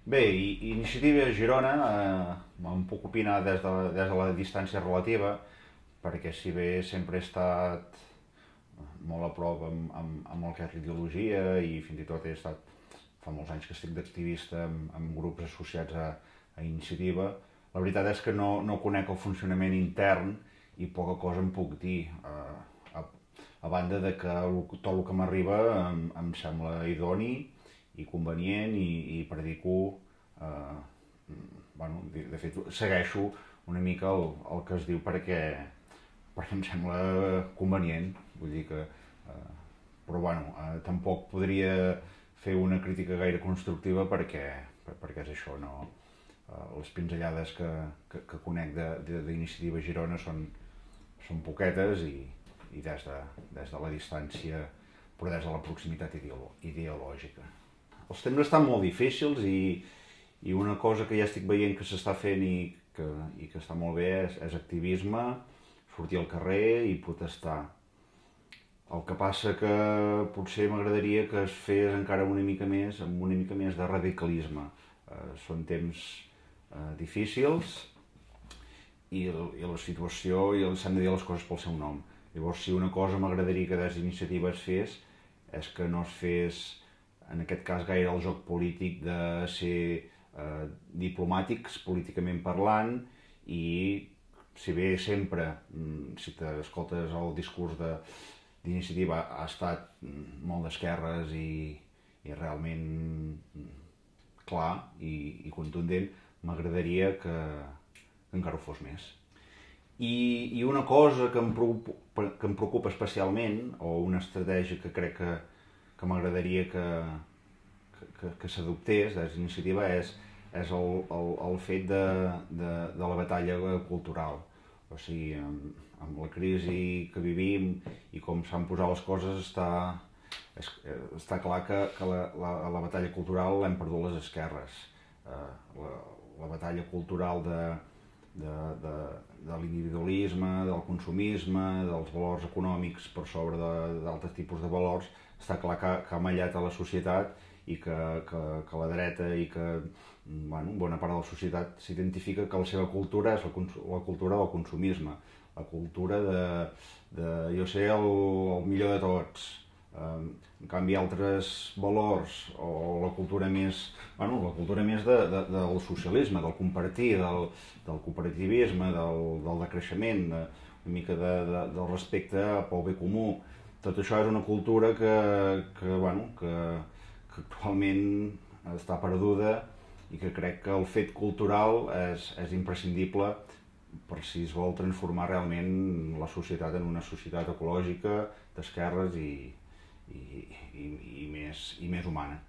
Bé, Iniciativa Girona em puc opinar des de la distància relativa, perquè si bé sempre he estat molt a prop amb el que és l'ideologia i fins i tot he estat fa molts anys que estic d'activista amb grups associats a Iniciativa, la veritat és que no conec el funcionament intern i poca cosa en puc dir. A banda de que tot el que m'arriba em sembla idoni i convenient i predico, bueno, de fet segueixo una mica el que es diu perquè em sembla convenient, vull dir que, però bueno, tampoc podria fer una crítica gaire constructiva perquè és això, no? Les pinzellades que conec d'Iniciativa Girona són poquetes i des de la distància, però des de la proximitat ideològica. Els temps estan molt difícils i una cosa que ja estic veient que s'està fent i que està molt bé és activisme, sortir al carrer i protestar. El que passa que potser m'agradaria que es fes encara una mica més, amb una mica més de radicalisme. Són temps difícils i la situació, i s'han de dir les coses pel seu nom. Llavors, si una cosa m'agradaria que des d'iniciativa es fes, és que no es fes, en aquest cas, gaire el joc polític de ser diplomàtics, políticament parlant, i si bé sempre, si t'escoltes el discurs d'iniciativa, ha estat molt d'esquerres i realment clar i contundent, m'agradaria que encara ho fos més. I una cosa que em preocupa especialment, o una estratègia que crec que m'agradaria que s'adoptés des d'iniciativa, és el fet de la batalla cultural. O sigui, amb la crisi que vivim i com s'han posat les coses, està clar que la batalla cultural l'hem perdut les esquerres. La batalla cultural de l'individualisme, del consumisme, dels valors econòmics per sobre d'altres tipus de valors, està clar que ha mallat a la societat i que la dreta i que bona part de la societat s'identifica que la seva cultura és la cultura del consumisme, la cultura de jo ser el millor de tots. En canvi, altres valors, o la cultura més del socialisme, del compartir, del cooperativisme, del decreixement, una mica del respecte pel bé comú, tot això és una cultura que actualment està perduda i que crec que el fet cultural és imprescindible per si es vol transformar realment la societat en una societat ecològica, d'esquerres i més humana.